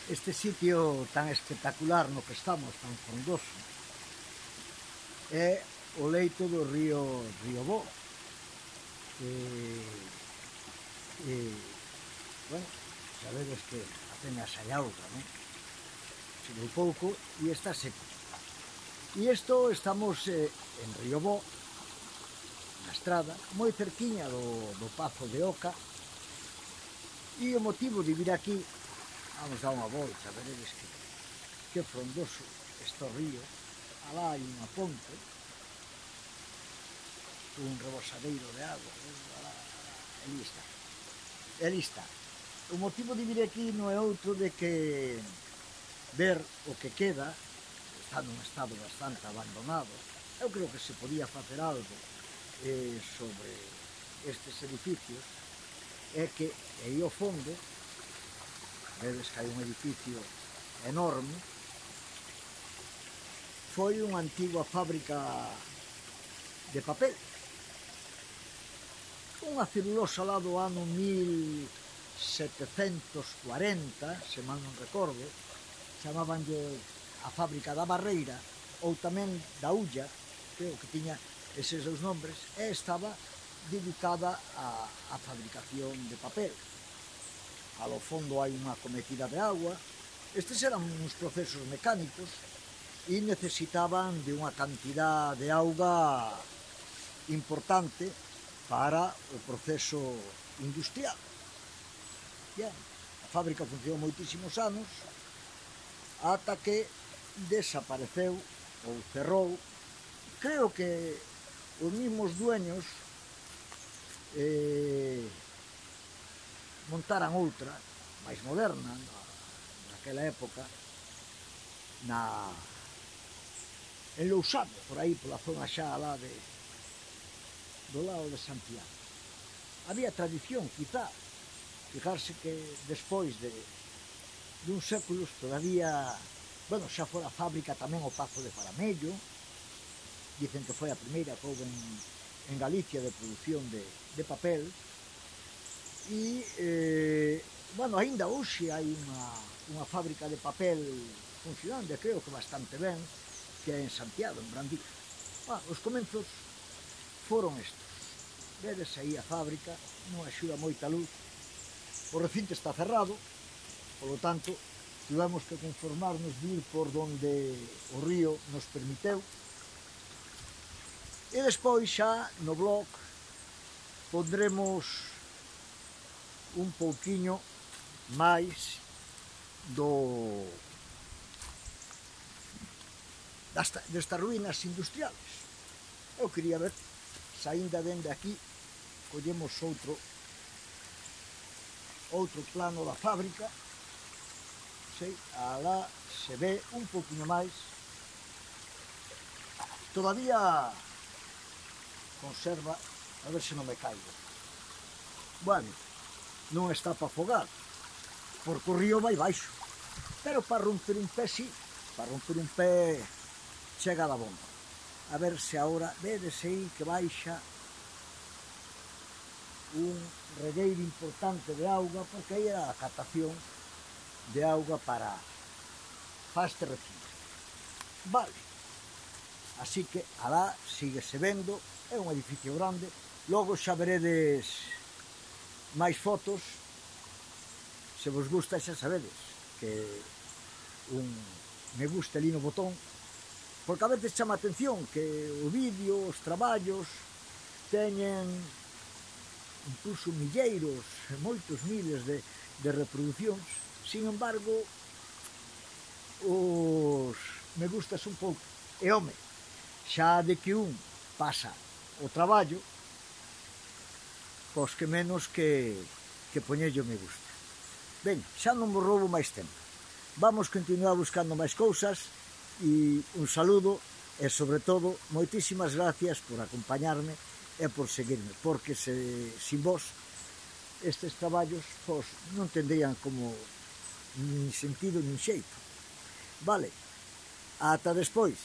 Este sitio tan espectacular no que estamos, tan frondoso, é o leito do río Bo. Bueno, sabedes que apenas hai auga, non? Chegou pouco e está seco. E isto estamos en Río Bo, na estrada, moi cerquiña do Pazo de Oca, e o motivo de vir aquí, vamos dar unha volta, veredes que frondoso está o río. Alá hai unha ponte, un rebosadeiro de agua, ali está. O motivo de vir aquí non é outro de que ver o que queda, está nun estado bastante abandonado. Eu creo que se podía facer algo sobre estes edificios, é que aí ao fondo, vedes que hai un edificio enorme, foi unha antiga fábrica de papel. Unha celulosa lá do ano 1740, se mal non recordo, chamabanlle a fábrica da Barreira, ou tamén da Ulla, creo que tiña eses dous nombres, e estaba dedicada á fabricación de papel. Ao fondo hai unha cometida de agua. Estes eran uns procesos mecánicos e necesitaban de unha cantidad de auga importante para o proceso industrial. Bien, a fábrica funcionou moitísimos anos ata que desapareceu ou cerrou. Creo que os mesmos dueños montaran outra, máis moderna, naquela época, en Lousame, por aí, pola zona xa lá do lado de Santiago. Había tradición, quizá, fijarse que despois de uns séculos todavía, bueno, xa fora a fábrica tamén o Pazo de Faramello, dicen que foi a primeira que houve en Galicia de produción de papel, e, bueno, aínda hoxe hai unha fábrica de papel funcionando, creo que bastante ben, que é en Santiago, en Brandía. Os comenzos foron estes. Vedes aí a fábrica, non axuda moita luz. O recinto está cerrado, polo tanto, tivemos que conformarnos de ir por donde o río nos permiteu. E despois xa no blog pondremos un pouquiño máis destas ruínas industriales. Eu quería ver se aínda dende aquí collemos outro plano da fábrica. Alá se ve un pouquiño máis. Todavía conserva, a ver se non me caigo. Bueno, non está para afogar, porque o río vai baixo, pero para romper un pé sí, para romper un pé chega da bomba. A ver se agora vedes aí que baixa un regueiro importante de auga, porque aí era a captación de auga para este recinto. Vale, así que alá síguese vendo, é un edificio grande. Logo xa veredes máis fotos. Se vos gusta xa sabedes que un me gusta ali no botón, porque a veces chama a atención que o vídeo, os traballos teñen incluso milleiros, moitos miles de reproduccións. Sin embargo, os me gustas un pouco. E home, xa de que un pasa o traballo, pois que menos que poñerlle o me gusta. Ben, xa non vos roubo máis tempo. Vamos continuar buscando máis cousas e un saludo e, sobre todo, moitísimas gracias por acompañarme e por seguirme, porque sin vos estes traballos non tendrían como nin sentido nin xeito. Vale, ata despois.